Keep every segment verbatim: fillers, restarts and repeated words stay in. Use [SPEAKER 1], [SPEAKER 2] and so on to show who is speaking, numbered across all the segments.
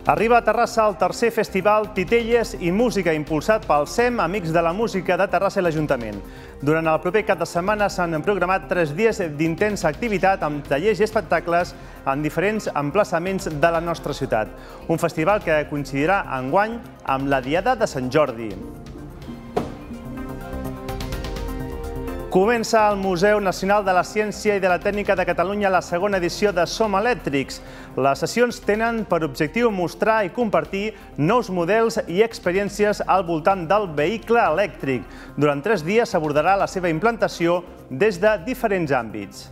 [SPEAKER 1] Arriba a Terrassa el tercer festival Titelles i Música impulsat pel S E M, Amics de la Música de Terrassa i l'Ajuntament. Durant el proper cap de setmana s'han programat tres dies d'intensa activitat amb tallers i espectacles en diferents emplaçaments de la nostra ciutat. Un festival que coincidirà enguany amb la Diada de Sant Jordi. Comença al Museu Nacional de la Ciència i de la Tècnica de Catalunya la segona edició de Som Elèctrics. Les sessions tenen per objectiu mostrar i compartir nous models i experiències al voltant del vehicle elèctric. Durant tres dies s'abordarà la seva implantació des de diferents àmbits.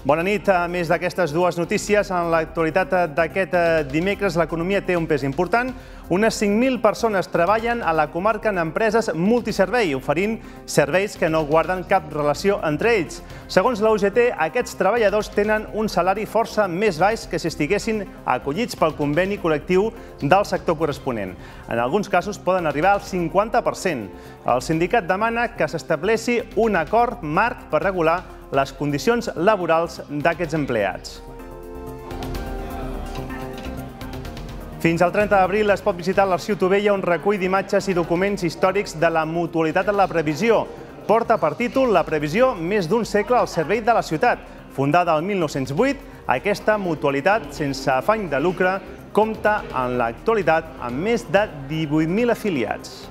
[SPEAKER 1] Bona nit. A més d'aquestes dues notícies, en l'actualitat d'aquest dimecres l'economia té un pes important. Unes cinc mil persones treballen a la comarca en empreses multiservei, oferint serveis que no guarden cap relació entre ells. Segons la U G T, aquests treballadors tenen un salari força més baix que si estiguessin acollits pel conveni col·lectiu del sector corresponent. En alguns casos poden arribar al cinquanta per cent. El sindicat demana que s'estableixi un acord marc per regular les condicions laborals d'aquests empleats. Fins al trenta d'abril es pot visitar l'Arxiu Tovella, un recull d'imatges i documents històrics de la mutualitat en la previsió. Porta per títol La previsió, més d'un segle al servei de la ciutat. Fundada el mil nou-cents vuit, aquesta mutualitat, sense afany de lucre, compta en l'actualitat amb més de divuit mil afiliats.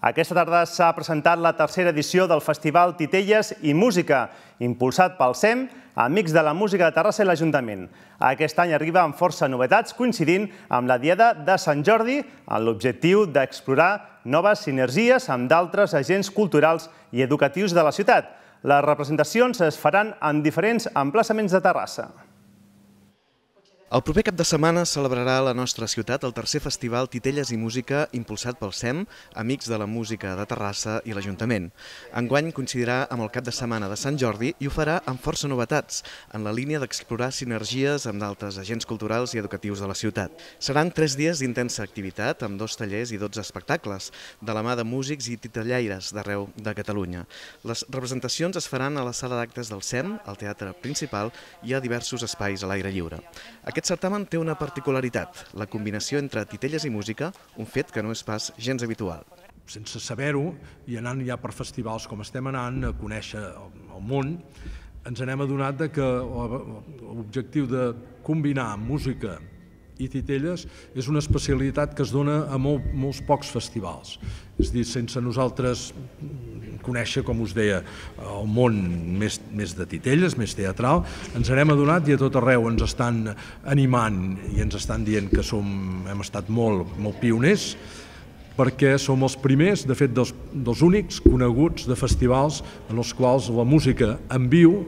[SPEAKER 1] Aquesta tarda s'ha presentat la tercera edició del Festival Titelles i Música, impulsat pel S E M, Amics de la Música de Terrassa i l'Ajuntament. Aquest any arriba amb força novetats, coincidint amb la Diada de Sant Jordi, amb l'objectiu d'explorar noves sinergies amb d'altres agents culturals i educatius de la ciutat. Les representacions es faran en diferents emplaçaments de Terrassa.
[SPEAKER 2] El proper cap de setmana celebrarà a la nostra ciutat el tercer festival Titelles i Música impulsat pel S E M, Amics de la Música de Terrassa i l'Ajuntament. Enguany coincidirà amb el cap de setmana de Sant Jordi i ho farà amb força novetats, en la línia d'explorar sinergies amb d'altres agents culturals i educatius de la ciutat. Seran tres dies d'intensa activitat, amb dos tallers i dotze espectacles, de la mà de músics i titellaires d'arreu de Catalunya. Les representacions es faran a la sala d'actes del S E M, al teatre principal i a diversos espais a l'aire lliure. Aquest certamen té una particularitat, la combinació entre titelles i música, un fet que no és pas gens habitual.
[SPEAKER 3] Sense saber-ho, i anant ja per festivals com estem anant, a conèixer el món, ens n'hem adonat que l'objectiu de combinar música i titelles és una especialitat que es dona a molts pocs festivals. És a dir, sense nosaltres conèixer, com us deia, el món més de titelles, més teatral, ens n'hem adonat i a tot arreu ens estan animant i ens estan dient que hem estat molt pioners, perquè som els primers, de fet dels únics coneguts de festivals en els quals la música en viu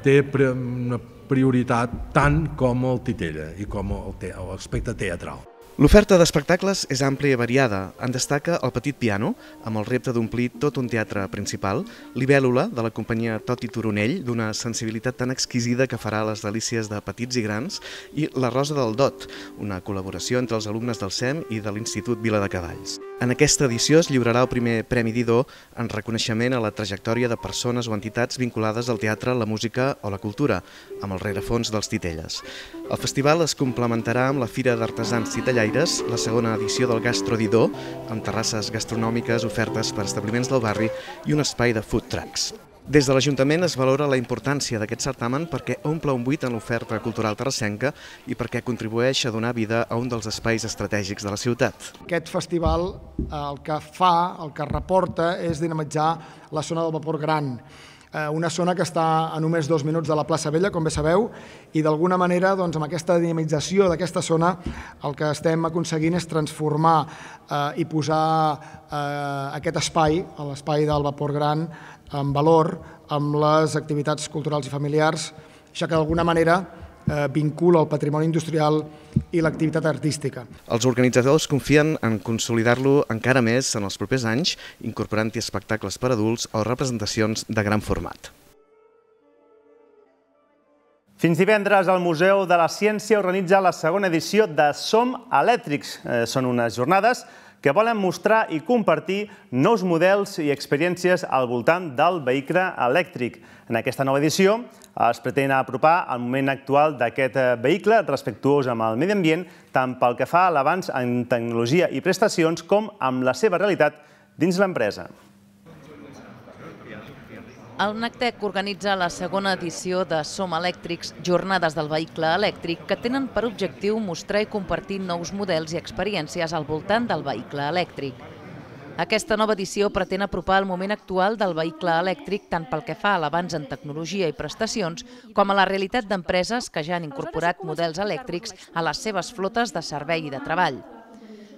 [SPEAKER 3] té una prioritat tant com el titella i com l'aspecte teatral.
[SPEAKER 2] L'oferta d'espectacles és àmplia i variada. En destaca el Petit Piano, amb el repte d'omplir tot un teatre principal, Libèl·lula, de la companyia Tot i Turonell, d'una sensibilitat tan exquisida que farà les delícies de petits i grans, i La Rosa del Dot, una col·laboració entre els alumnes del S E M i de l'Institut Viladecavalls. En aquesta edició es lliurarà el primer Premi Didó en reconeixement a la trajectòria de persones o entitats vinculades al teatre, la música o la cultura, amb el rerefons dels titelles. El festival es complementarà amb la Fira d'Artesans Titellaires, la segona edició del Gastro Didó, amb terrasses gastronòmiques, ofertes per establiments del barri i un espai de food trucks. Des de l'Ajuntament es valora la importància d'aquest certamen perquè omple un buit en l'oferta cultural terrassenca i perquè contribueix a donar vida a un dels espais estratègics de la ciutat.
[SPEAKER 4] Aquest festival el que fa, el que reporta, és dinamitzar la zona del Vapor Gran, una zona que està a només dos minuts de la plaça Vella, com bé sabeu, i d'alguna manera, amb aquesta dinamització d'aquesta zona, el que estem aconseguint és transformar i posar aquest espai, l'espai del Vapor Gran, en valor amb les activitats culturals i familiars, ja que d'alguna manera vincula el patrimoni industrial i l'activitat artística.
[SPEAKER 2] Els organitzadors confien en consolidar-lo encara més en els propers anys, incorporant-hi espectacles per adults o representacions de gran format.
[SPEAKER 1] Fins divendres, el Museu de la Ciència organitza la segona edició de Som Elèctrics. Són unes jornades que volen mostrar i compartir nous models i experiències al voltant del vehicle elèctric. En aquesta nova edició es pretén apropar el moment actual d'aquest vehicle respectuós amb el medi ambient, tant pel que fa a l'avanç en tecnologia i prestacions com amb la seva realitat dins l'empresa.
[SPEAKER 5] El NACTEC organitza la segona edició de Som Elèctrics, jornades del vehicle elèctric, que tenen per objectiu mostrar i compartir nous models i experiències al voltant del vehicle elèctric. Aquesta nova edició pretén apropar el moment actual del vehicle elèctric tant pel que fa a l'avanç en tecnologia i prestacions com a la realitat d'empreses que ja han incorporat models elèctrics a les seves flotes de servei i de treball.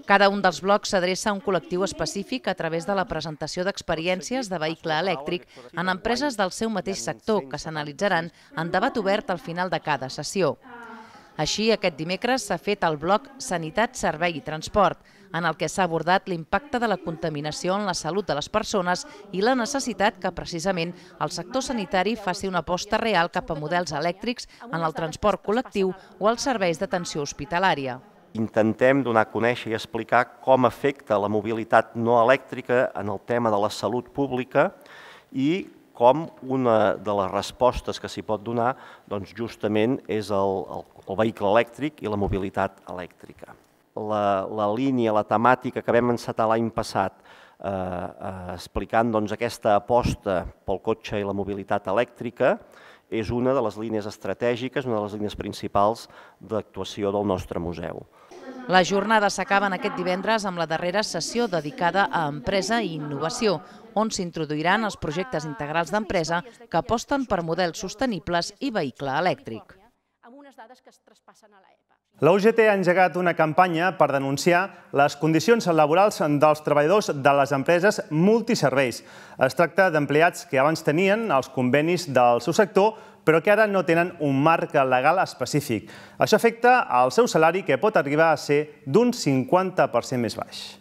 [SPEAKER 5] Cada un dels blocs s'adreça a un col·lectiu específic a través de la presentació d'experiències de vehicle elèctric en empreses del seu mateix sector que s'analitzaran en debat obert al final de cada sessió. Així, aquest dimecres s'ha fet el bloc Sanitat, Servei i Transport, en el que s'ha abordat l'impacte de la contaminació en la salut de les persones i la necessitat que, precisament, el sector sanitari faci una aposta real cap a models elèctrics en el transport col·lectiu o als serveis d'atenció hospitalària.
[SPEAKER 6] Intentem donar a conèixer i explicar com afecta la mobilitat no elèctrica en el tema de la salut pública i com una de les respostes que s'hi pot donar doncs justament és el, el, el vehicle elèctric i la mobilitat elèctrica. La, la línia, la temàtica que vam encetar l'any passat eh, eh, explicant doncs, aquesta aposta pel cotxe i la mobilitat elèctrica és una de les línies estratègiques, una de les línies principals d'actuació del nostre museu.
[SPEAKER 5] Les jornades s'acaben aquest divendres amb la darrera sessió dedicada a empresa i innovació, on s'introduiran els projectes integrals d'empresa que aposten per models sostenibles i vehicle elèctric.
[SPEAKER 1] La U G T ha engegat una campanya per denunciar les condicions laborals dels treballadors de les empreses multiserveis. Es tracta d'empleats que abans tenien els convenis del seu sector, però que ara no tenen un marc legal específic. Això afecta al seu salari, que pot arribar a ser d'un cinquanta per cent més baix.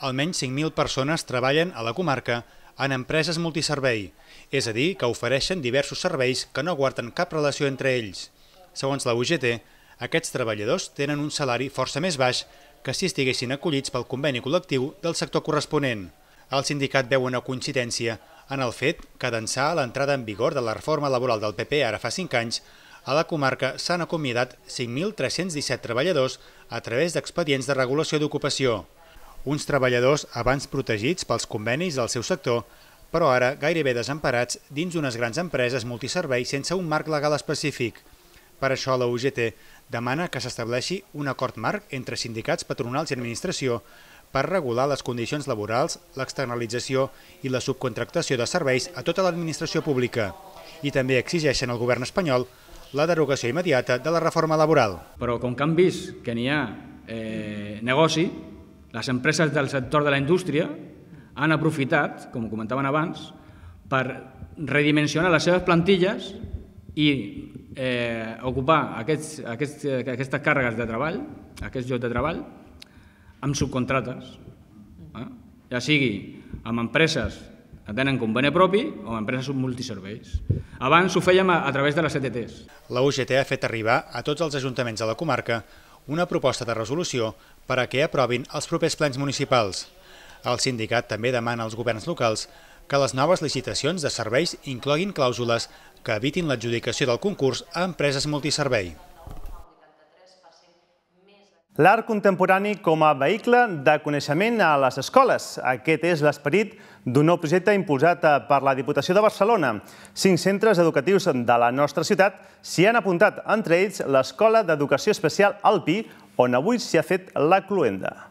[SPEAKER 7] Almenys cinc mil persones treballen a la comarca en empreses multiservei, és a dir, que ofereixen diversos serveis que no guarden cap relació entre ells. Segons la U G T, aquests treballadors tenen un salari força més baix que si estiguessin acollits pel conveni col·lectiu del sector corresponent. El sindicat veu una coincidència en el fet que d'ençà l'entrada en vigor de la reforma laboral del P P ara fa cinc anys, a la comarca s'han acomiadat cinc mil tres-cents disset treballadors a través d'expedients de regulació d'ocupació. Uns treballadors abans protegits pels convenis del seu sector, però ara gairebé desemparats dins d'unes grans empreses multiservei sense un marc legal específic. Per això la U G T demana que s'estableixi un acord marc entre sindicats, patronals i administració per regular les condicions laborals, l'externalització i la subcontractació de serveis a tota l'administració pública. I també exigeixen al govern espanyol la derogació immediata de la reforma laboral.
[SPEAKER 8] Però com que han vist que n'hi ha eh, negoci, les empreses del sector de la indústria han aprofitat, com comentaven abans, per redimensionar les seves plantilles i eh, ocupar aquests, aquests, aquestes càrregues de treball, aquests llocs de treball, amb subcontrates, eh? ja sigui amb empreses que tenen conveni propi o amb empreses multiserveis. Abans ho fèiem a, a través de les C T Ts.
[SPEAKER 7] La U G T ha fet arribar a tots els ajuntaments de la comarca una proposta de resolució per a que aprovin els propers plens municipals. El sindicat també demana als governs locals que les noves licitacions de serveis incloguin clàusules que evitin l'adjudicació del concurs a empreses multiservei.
[SPEAKER 1] L'art contemporani com a vehicle de coneixement a les escoles. Aquest és l'esperit d'un nou projecte impulsat per la Diputació de Barcelona. Cinc centres educatius de la nostra ciutat s'hi han apuntat, entre ells l'Escola d'Educació Especial Alpi, on avui s'hi ha fet la cloenda.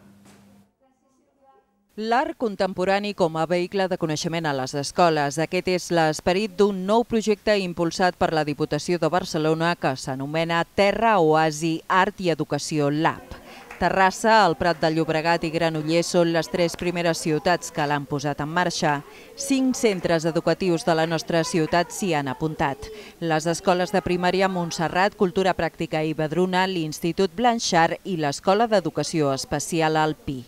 [SPEAKER 9] L'art contemporani com a vehicle de coneixement a les escoles. Aquest és l'esperit d'un nou projecte impulsat per la Diputació de Barcelona que s'anomena Terra Oasi Art i Educació Lab. Terrassa, el Prat de Llobregat i Granollers són les tres primeres ciutats que l'han posat en marxa. Cinc centres educatius de la nostra ciutat s'hi han apuntat. Les escoles de primària Montserrat, Cultura Pràctica i Vedruna, l'Institut Blanchard i l'Escola d'Educació Especial Alpi.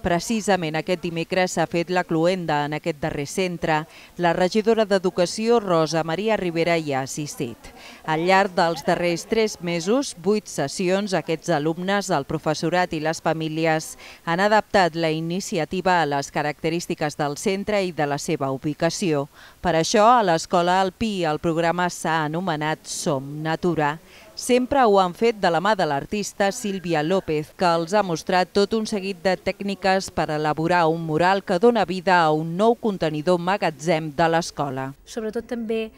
[SPEAKER 9] Precisament aquest dimecres s'ha fet la cloenda en aquest darrer centre. La regidora d'Educació, Rosa Maria Rivera, hi ha assistit. Al llarg dels darrers tres mesos, vuit sessions, aquests alumnes, el professorat i les famílies han adaptat la iniciativa a les característiques del centre i de la seva ubicació. Per això, a l'Escola Alpí el programa s'ha anomenat Som Natura. Sempre ho han fet de la mà de l'artista Sílvia López, que els ha mostrat tot un seguit de tècniques per elaborar un mural que dona vida a un nou contenidor magatzem de l'escola.
[SPEAKER 10] Sobretot també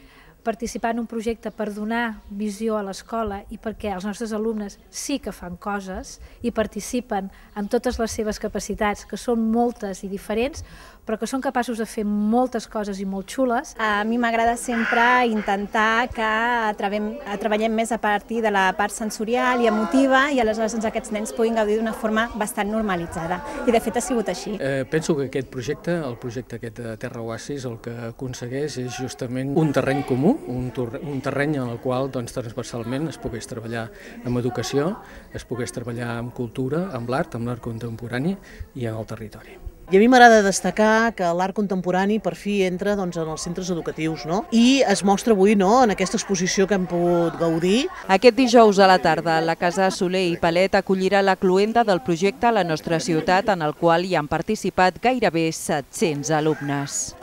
[SPEAKER 10] participar en un projecte per donar visió a l'escola i perquè els nostres alumnes sí que fan coses i participen amb totes les seves capacitats, que són moltes i diferents, però que són capaços de fer moltes coses i molt xules.
[SPEAKER 11] A mi m'agrada sempre intentar que treballem més a partir de la part sensorial i emotiva i aleshores aquests nens puguin gaudir d'una forma bastant normalitzada. I de fet ha sigut així.
[SPEAKER 12] Penso que aquest projecte, el projecte aquest de Terra Oasis, el que aconsegueix és justament un terreny comú, un terreny en el qual transversalment es pogués treballar amb educació, es pogués treballar amb cultura, amb l'art, amb l'art contemporani i en el territori.
[SPEAKER 13] I a mi m'agrada destacar que l'art contemporani per fi entra en els centres educatius i es mostra avui en aquesta exposició que hem pogut gaudir.
[SPEAKER 9] Aquest dijous a la tarda, la Casa Soler i Palet acollirà la cloenda del projecte a la nostra ciutat, en el qual hi han participat gairebé set-cents alumnes.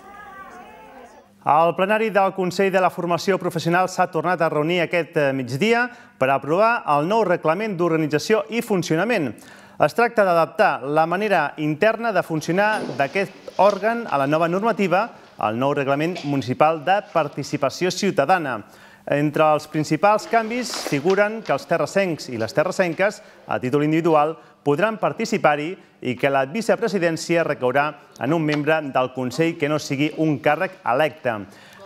[SPEAKER 1] El plenari del Consell de la Formació Professional s'ha tornat a reunir aquest migdia per aprovar el nou reglament d'organització i funcionament. Es tracta d'adaptar la manera interna de funcionar d'aquest òrgan a la nova normativa, el nou reglament municipal de participació ciutadana. Entre els principals canvis figuren que els terrassencs i les terrassenques, a títol individual, podran participar-hi i que la vicepresidència recaurà en un membre del Consell que no sigui un càrrec electe.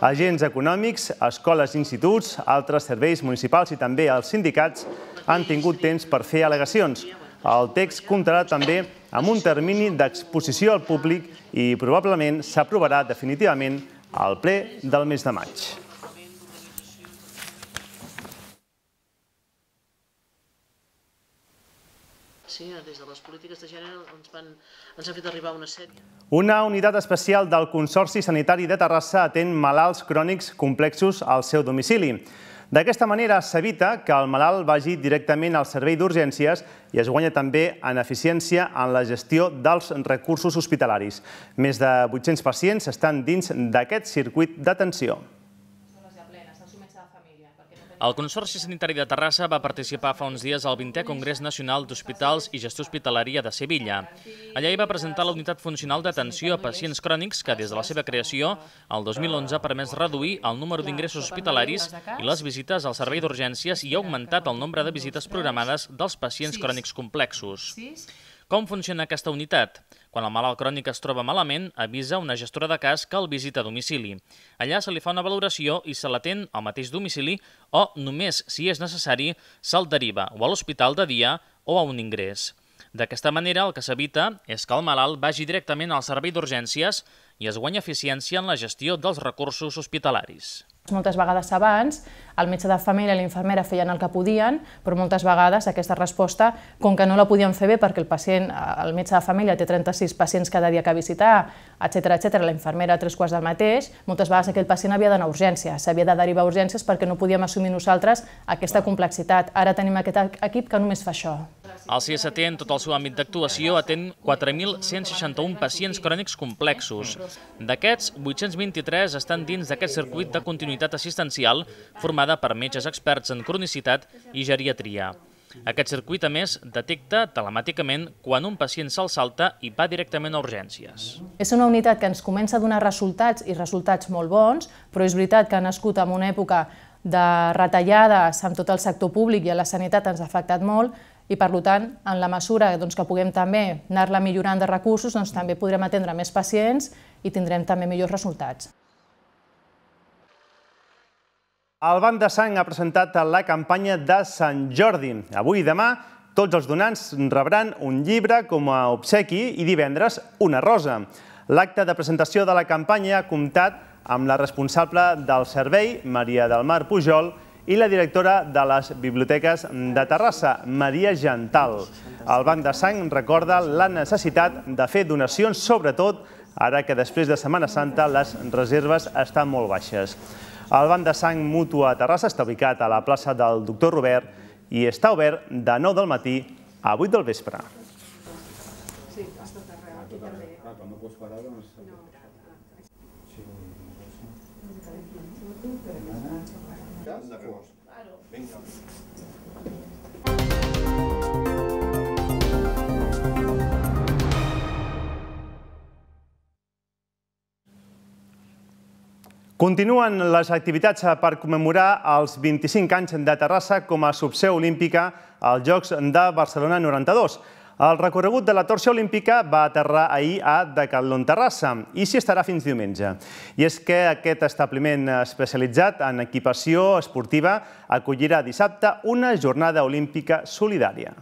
[SPEAKER 1] Agents econòmics, escoles i instituts, altres serveis municipals i també els sindicats han tingut temps per fer al·legacions. El text comptarà també amb un termini d'exposició al públic i probablement s'aprovarà definitivament al ple del mes de maig.
[SPEAKER 13] Sí, des de les polítiques de gènere ens han fet arribar una sèrie.
[SPEAKER 1] Una unitat especial del Consorci Sanitari de Terrassa atén malalts crònics complexos al seu domicili. D'aquesta manera s'evita que el malalt vagi directament al servei d'urgències i es guanya també en eficiència en la gestió dels recursos hospitalaris. Més de vuit-cents pacients estan dins d'aquest circuit d'atenció.
[SPEAKER 14] El Consorci Sanitari de Terrassa va participar fa uns dies al vintè Congrés Nacional d'Hospitals i Gestió Hospitalària de Sevilla. Allà hi va presentar la unitat funcional d'atenció a pacients crònics que, des de la seva creació, el dos mil onze ha permès reduir el número d'ingressos hospitalaris i les visites al servei d'urgències i ha augmentat el nombre de visites programades dels pacients crònics complexos. Com funciona aquesta unitat? Quan el malalt crònic es troba malament, avisa una gestora de cas que el visita a domicili. Allà se li fa una valoració i se l'atén al mateix domicili o, només si és necessari, se'l deriva o a l'hospital de dia o a un ingrés. D'aquesta manera, el que s'evita és que el malalt vagi directament al servei d'urgències i es guanya eficiència en la gestió dels recursos hospitalaris.
[SPEAKER 15] Moltes vegades abans el metge de família i l'infermera feien el que podien, però moltes vegades aquesta resposta, com que no la podien fer bé perquè el pacient, el metge de família té trenta-sis pacients cada dia que visitar, etcètera, etcètera, la infermera tres quarts del mateix, moltes vegades aquell pacient havia d'anar a urgències, s'havia de derivar a urgències perquè no podíem assumir nosaltres aquesta complexitat. Ara tenim aquest equip que només fa això.
[SPEAKER 14] El C S T, en tot el seu àmbit d'actuació, atén quatre mil cent seixanta-un pacients crònics complexos. D'aquests, vuit-cents vint-i-tres estan dins d'aquest circuit de continuïtat assistencial formada per metges experts en cronicitat i geriatria. Aquest circuit, a més, detecta telemàticament quan un pacient se'l salta i va directament a urgències.
[SPEAKER 15] És una unitat que ens comença a donar resultats i resultats molt bons, però és veritat que ha nascut en una època de retallades amb tot el sector públic i a la sanitat ens ha afectat molt i, per tant, en la mesura que puguem també anar-la millorant de recursos, també podrem atendre més pacients i tindrem també millors resultats.
[SPEAKER 1] El Banc de Sang ha presentat la campanya de Sant Jordi. Avui i demà tots els donants rebran un llibre com a obsequi i divendres una rosa. L'acte de presentació de la campanya ha comptat amb la responsable del servei, Maria del Mar Pujol, i la directora de les biblioteques de Terrassa, Maria Gental. El Banc de Sang recorda la necessitat de fer donacions, sobretot ara que després de Setmana Santa les reserves estan molt baixes. El Banc de Sang Mútua Terrassa està ubicat a la plaça del Doctor Robert i està obert de nou del matí a vuit del vespre. Sí, a tot arreu, aquí també. Quan no pots parar, doncs... Continuen les activitats per commemorar els vint-i-cinc anys de Terrassa com a subseu olímpica als Jocs de Barcelona noranta-dos. El recorregut de la torxa olímpica va aterrar ahir a Decathlon Terrassa i s'hi estarà fins diumenge. I és que aquest establiment especialitzat en equipació esportiva acollirà dissabte una jornada olímpica solidària.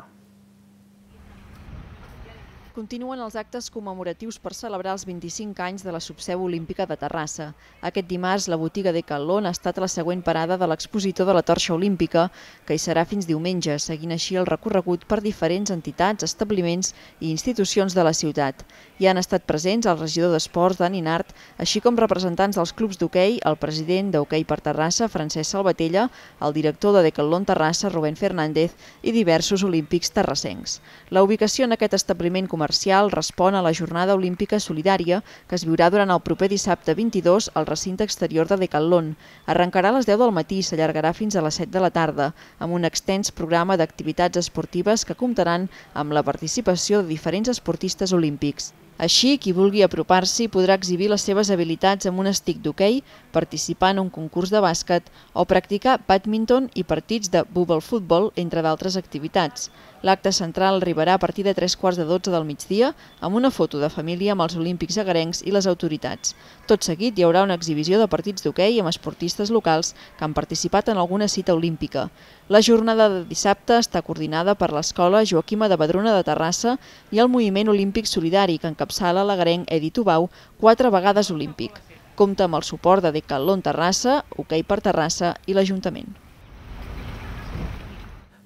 [SPEAKER 9] Continuen els actes commemoratius per celebrar els vint-i-cinc anys de la subseu olímpica de Terrassa. Aquest dimarts, la botiga Decathlon ha estat la següent parada de l'expositor de la torxa olímpica, que hi serà fins diumenge, seguint així el recorregut per diferents entitats, establiments i institucions de la ciutat. Hi han estat presents el regidor d'Esports, Dani Nart, així com representants dels clubs d'hoquei, el president d'Hoquei per Terrassa, Francesc Salvatella, el director de Decathlon Terrassa, Rubén Fernández, i diversos olímpics terrassencs. La ubicació en aquest establiment comercial comercial respon a la jornada olímpica solidària que es viurà durant el proper dissabte vint-i-dos al recinte exterior de Decathlon. Arrencarà a les deu del matí i s'allargarà fins a les set de la tarda, amb un extens programa d'activitats esportives que comptaran amb la participació de diferents esportistes olímpics. Així, qui vulgui apropar-s'hi podrà exhibir les seves habilitats amb un estic d'hoquei, participar en un concurs de bàsquet o practicar bàdminton i partits de bubble futbol, entre d'altres activitats. L'acte central arribarà a partir de tres quarts de dotze del migdia amb una foto de família amb els olímpics agarencs i les autoritats. Tot seguit hi haurà una exhibició de partits d'hoquei amb esportistes locals que han participat en alguna cita olímpica. La jornada de dissabte està coordinada per l'Escola Joaquima de Vedruna de Terrassa i el Moviment Olímpic Solidari, que encapçala l'agarenc Edi Tubau, quatre vegades olímpic. Compta amb el suport de Decathlon Terrassa, Hoquei per Terrassa i l'Ajuntament.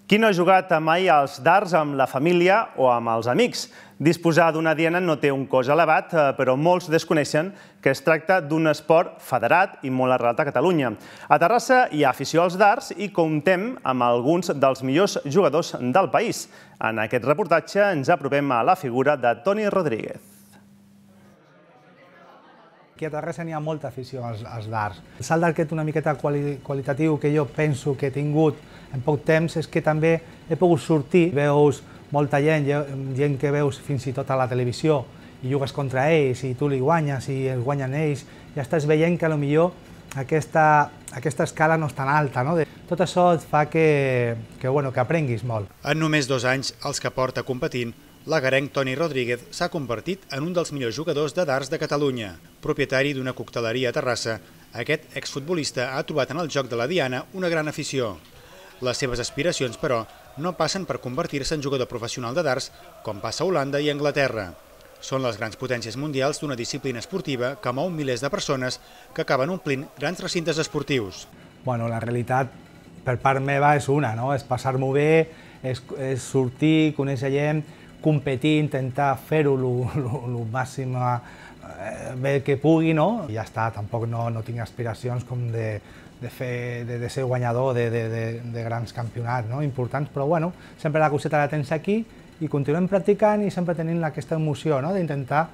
[SPEAKER 1] Qui no ha jugat mai als dards amb la família o amb els amics? Disposar d'una diana no té un cost elevat, però molts desconeixen que es tracta d'un esport federat i molt arrelat a Catalunya. A Terrassa hi ha afició als dards i comptem amb alguns dels millors jugadors del país. En aquest reportatge ens apropem a la figura de Toni Rodríguez.
[SPEAKER 16] Aquí a Terrassa n'hi ha molta afició als, als dards. El salt d'arquet una miqueta quali, qualitatiu que jo penso que he tingut en poc temps és que també he pogut sortir, veus molta gent, gent que veus fins i tot a la televisió i jugues contra ells i tu li guanyes i els guanyen ells, ja estàs veient que potser aquesta, aquesta escala no és tan alta. No? Tot això et fa que, que, bueno, que aprenguis molt.
[SPEAKER 7] En només dos anys, els que porta competint, l'agarenc Toni Rodríguez s'ha convertit en un dels millors jugadors de dards de Catalunya. Propietari d'una cocteleria a Terrassa, aquest exfutbolista ha trobat en el joc de la diana una gran afició. Les seves aspiracions, però, no passen per convertir-se en jugador professional de dards, com passa a Holanda i Anglaterra. Són les grans potències mundials d'una disciplina esportiva que mou milers de persones que acaben omplint grans recintes esportius.
[SPEAKER 16] Bueno, la realitat, per part meva, és una, no? És passar-m'ho bé, és, és sortir, conèixer gent, competir, intentar fer-ho el màxim bé que pugui, no? I ja està, tampoc no, no tinc aspiracions com de, de, fer, de, de ser guanyador de, de, de, de grans campionats, no? Importants, però bueno, sempre la coseta la tens aquí i continuem practicant i sempre tenint aquesta emoció, no? D'intentar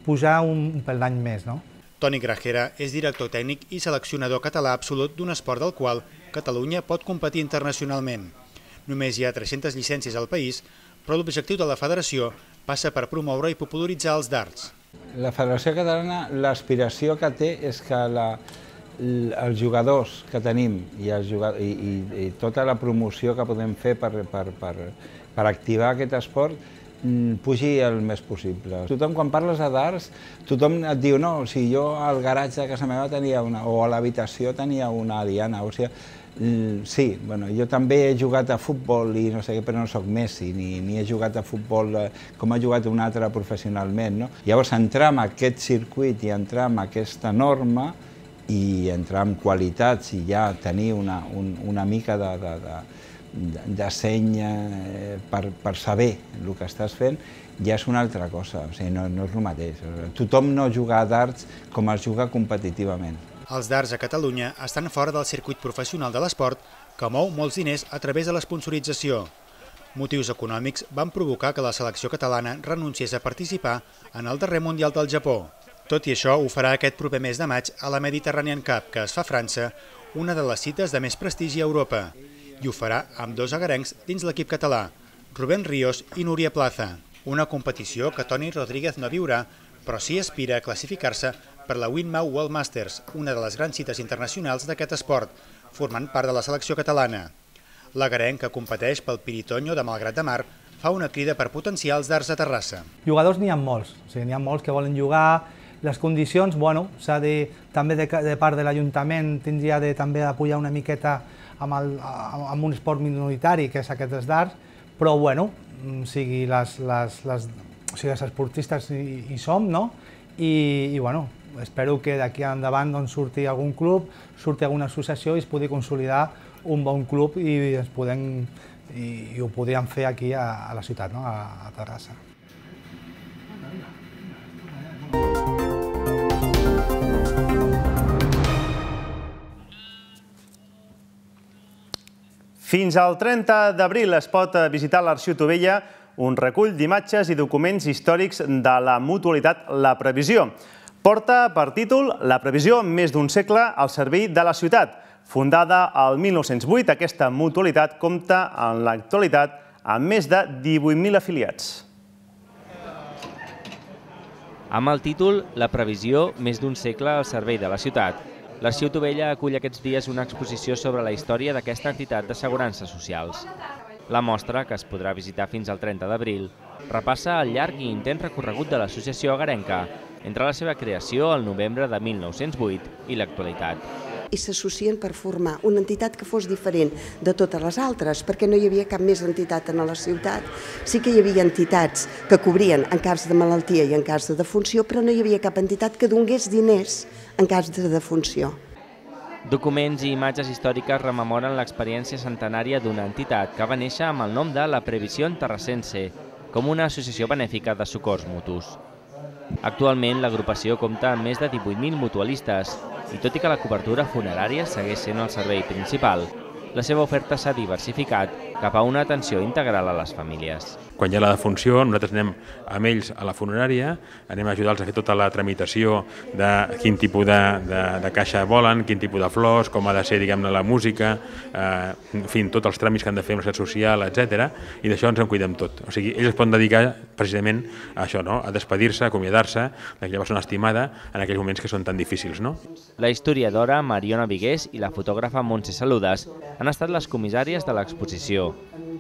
[SPEAKER 16] pujar un, un peldany més, no?
[SPEAKER 7] Toni Grajera és director tècnic i seleccionador català absolut d'un esport del qual Catalunya pot competir internacionalment. Només hi ha tres-centes llicències al país, però l'objectiu de la federació passa per promoure i popularitzar els dards.
[SPEAKER 17] La Federació Catalana, l'aspiració que té és que la, els jugadors que tenim i, els jugadors, i, i, i tota la promoció que podem fer per, per, per, per activar aquest esport pugi el més possible. Tothom, quan parles de dards, tothom et diu no, si jo al garatge de casa meva tenia una, o a l'habitació tenia una diana, o sigui, sí, bueno, jo també he jugat a futbol i no sé què, però no soc Messi, ni, ni he jugat a futbol com ha jugat un altre professionalment, no? Llavors, entrar en aquest circuit i entrar en aquesta norma i entrar en qualitats i ja tenir una, un, una mica de, de, de, de seny eh, per, per saber el que estàs fent, ja és una altra cosa, o sigui, no, no és el mateix. Tothom no juga a darts com es juga competitivament.
[SPEAKER 7] Els darts a Catalunya estan fora del circuit professional de l'esport que mou molts diners a través de l'esponsorització. Motius econòmics van provocar que la selecció catalana renunciés a participar en el darrer Mundial del Japó. Tot i això, ho farà aquest proper mes de maig a la Mediterranean Cup, que es fa a França, una de les cites de més prestigi a Europa. I ho farà amb dos agarencs dins l'equip català, Rubén Ríos i Núria Plaza. Una competició que Toni Rodríguez no viurà, però sí aspira a classificar-se per la Winmau World Masters, una de les grans cites internacionals d'aquest esport, formant part de la selecció catalana. L'agarenc, que competeix pel Piritoño de Malgrat de Mar, fa una crida per potenciar els darts a Terrassa.
[SPEAKER 16] Jugadors n'hi ha molts, o sigui, n'hi ha molts que volen jugar, les condicions, bueno, s'ha de, també de, de part de l'Ajuntament, tindria de també apoyar una miqueta amb, el, amb un esport minoritari, que és aquest dels darts, però bueno, o sigui, les, les, les, o sigui, els esportistes hi, hi som, no? I, i bueno, espero que d'aquí endavant doncs, surti algun club, surti alguna associació i es pugui consolidar un bon club i, es podem, i, i ho podríem fer aquí a, a la ciutat, no? a, a Terrassa.
[SPEAKER 1] Fins al trenta d'abril es pot visitar l'Arxiu Tovella, un recull d'imatges i documents històrics de la mutualitat La Previsió. Porta per títol La Previsió, més d'un segle al servei de la ciutat. Fundada al mil nou-cents vuit, aquesta mutualitat compta en l'actualitat amb més de divuit mil afiliats.
[SPEAKER 18] Amb el títol La Previsió, més d'un segle al servei de la ciutat, l'Arxiu Tovella acull aquests dies una exposició sobre la història d'aquesta entitat d'assegurances socials. La mostra, que es podrà visitar fins al trenta d'abril, repassa el llarg i intens recorregut de l'associació agarenca entre la seva creació al novembre de mil nou-cents vuit i l'actualitat.
[SPEAKER 19] I s'associen per formar una entitat que fos diferent de totes les altres, perquè no hi havia cap més entitat en la ciutat. Sí que hi havia entitats que cobrien en cas de malaltia i en cas de defunció, però no hi havia cap entitat que donés diners en cas de defunció.
[SPEAKER 18] Documents i imatges històriques rememoren l'experiència centenària d'una entitat que va néixer amb el nom de La Previsión Terrassense, com una associació benèfica de socors mutus. Actualment, l'agrupació compta amb més de divuit mil mutualistes i tot i que la cobertura funerària segueix sent el servei principal, la seva oferta s'ha diversificat cap a una atenció integral a les famílies.
[SPEAKER 20] Quan hi ha la defunció, nosaltres anem amb ells a la funerària, anem a ajudar-los a fer tota la tramitació de quin tipus de, de, de caixa volen, quin tipus de flors, com ha de ser, diguem-ne, la música, eh, en fi, tots els tràmits que han de fer amb la seguretat social, etcètera, i d'això ens en cuidem tot. O sigui, ells es poden dedicar precisament a això, no? A despedir-se, a acomiadar-se d'aquella persona estimada en aquells moments que són tan difícils, no?
[SPEAKER 18] La historiadora Mariona Vigués i la fotògrafa Montse Saludes han estat les comissàries de l'exposició.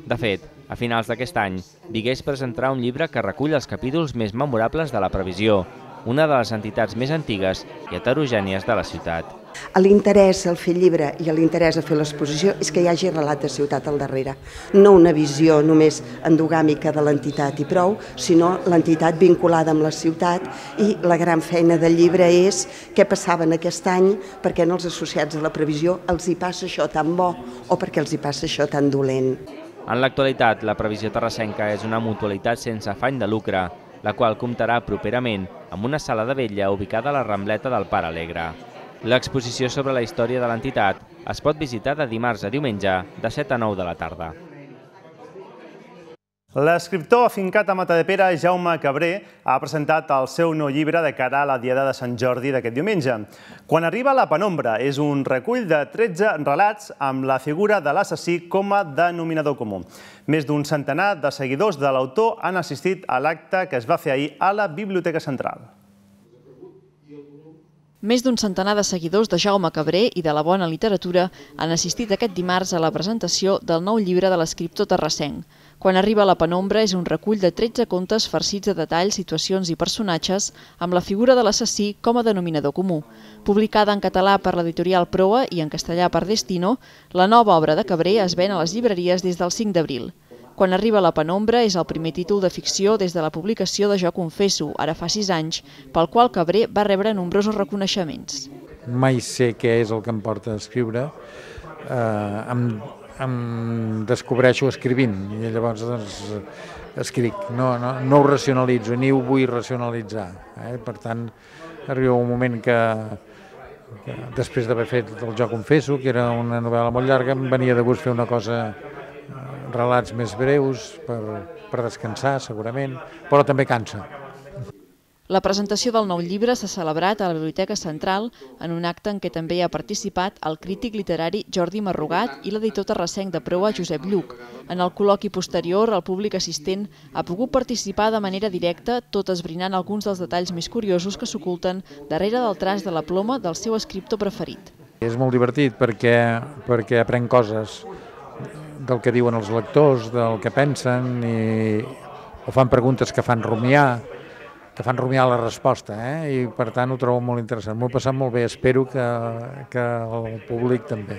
[SPEAKER 18] De fet, a finals d'aquest any, Vigués presentarà un llibre que recull els capítols més memorables de La Previsió, una de les entitats més antigues i heterogènies de la ciutat.
[SPEAKER 19] L'interès al fer llibre i l'interès a fer l'exposició és que hi hagi relat de ciutat al darrere. No una visió només endogàmica de l'entitat i prou, sinó l'entitat vinculada amb la ciutat, i la gran feina del llibre és què passava en aquest any, perquè en els associats a La Previsió els hi passa això tan bo o perquè els hi passa això tan dolent.
[SPEAKER 18] En l'actualitat, La Previsió Terrassenca és una mutualitat sense afany de lucre, la qual comptarà properament amb una sala de vetlla ubicada a la Rambleta del Pare Alegre. L'exposició sobre la història de l'entitat es pot visitar de dimarts a diumenge de set a nou de la tarda.
[SPEAKER 1] L'escriptor afincat a Matadepera, Jaume Cabré, ha presentat el seu nou llibre de cara a la Diada de Sant Jordi d'aquest diumenge. Quan arriba la penombra és un recull de tretze relats amb la figura de l'assassí com a denominador comú. Més d'un centenar de seguidors de l'autor han assistit a l'acte que es va fer ahir a la Biblioteca Central.
[SPEAKER 21] Més d'un centenar de seguidors de Jaume Cabré i de la bona literatura han assistit aquest dimarts a la presentació del nou llibre de l'escriptor terrassenc. Quan arriba la penombra és un recull de tretze contes farcits de detalls, situacions i personatges amb la figura de l'assassí com a denominador comú. Publicada en català per l'editorial Proa i en castellà per Destino, la nova obra de Cabré es ven a les llibreries des del cinc d'abril. Quan arriba la penombra és el primer títol de ficció des de la publicació de Jo confesso, ara fa sis anys, pel qual Cabré va rebre nombrosos reconeixements.
[SPEAKER 3] mai sé què és el que em porta a escriure, eh, em, em descobreixo escrivint i llavors doncs, escric, no, no, no ho racionalitzo ni ho vull racionalitzar. Eh? Per tant, arriba un moment que, que després d'haver fet El Jo confesso, que era una novel·la molt llarga, em venia de gust fer una cosa, relats més breus, per, per descansar segurament, però també cansa.
[SPEAKER 21] La presentació del nou llibre s'ha celebrat a la Biblioteca Central en un acte en què també hi ha participat el crític literari Jordi Marrugat i l'editor terrassenc de proa Josep Lluc. En el col·loqui posterior, el públic assistent ha pogut participar de manera directa, tot esbrinant alguns dels detalls més curiosos que s'oculten darrere del traç de la ploma del seu escriptor preferit.
[SPEAKER 3] És molt divertit perquè, perquè aprenc coses del que diuen els lectors, del que pensen, i, o fan preguntes que fan rumiar, que fan rumiar la resposta, eh? I per tant ho trobo molt interessant. M'ho he passat molt bé, espero que, que el públic també.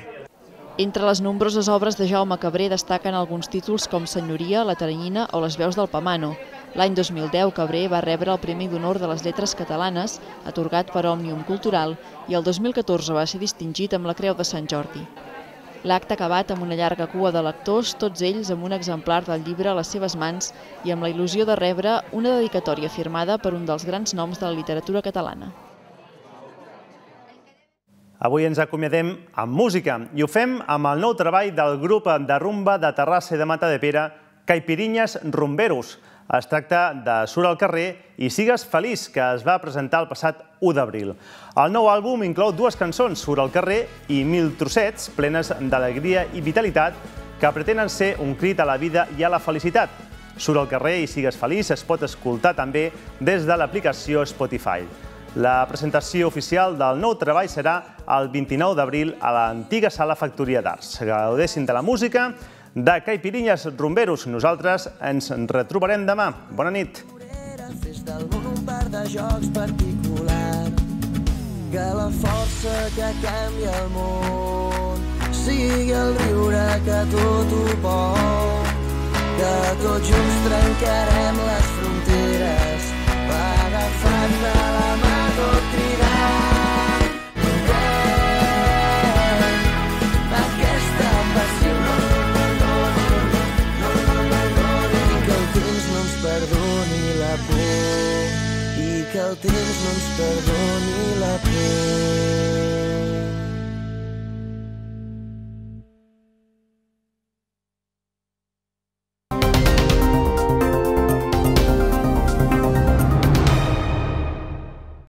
[SPEAKER 21] Entre les nombroses obres de Jaume Cabré destaquen alguns títols com Senyoria, La Teranyina o Les veus del Pamano. L'any dos mil deu Cabré va rebre el Premi d'Honor de les Lletres Catalanes, atorgat per Òmnium Cultural, i el dos mil catorze va ser distingit amb la Creu de Sant Jordi. L'acte ha acabat amb una llarga cua de lectors, tots ells amb un exemplar del llibre a les seves mans i amb la il·lusió de rebre una dedicatòria firmada per un dels grans noms de la literatura catalana.
[SPEAKER 1] Avui ens acomiadem amb música i ho fem amb el nou treball del grup de rumba de Terrassa i de Matadepera, Caipirinyes Rumberos. Es tracta de Surt al carrer i Sigues feliç, que es va presentar el passat u d'abril. El nou àlbum inclou dues cançons, Surt al carrer i Mil trossets, plenes d'alegria i vitalitat, que pretenen ser un crit a la vida i a la felicitat. Surt al carrer i Sigues feliç es pot escoltar també des de l'aplicació Spotify. La presentació oficial del nou treball serà el vint-i-nou d'abril a l'antiga Sala Factoria d'Arts. Gaudeixin de la música de Caipirinyes Rumberos. Nosaltres ens retrobarem demà. Bona nit.
[SPEAKER 22] Fes del món un parc de jocs particular, que la força que canvia el món sigui el riure que tot ho pot, que tots junts trencarem les fronteres agafats de la mà.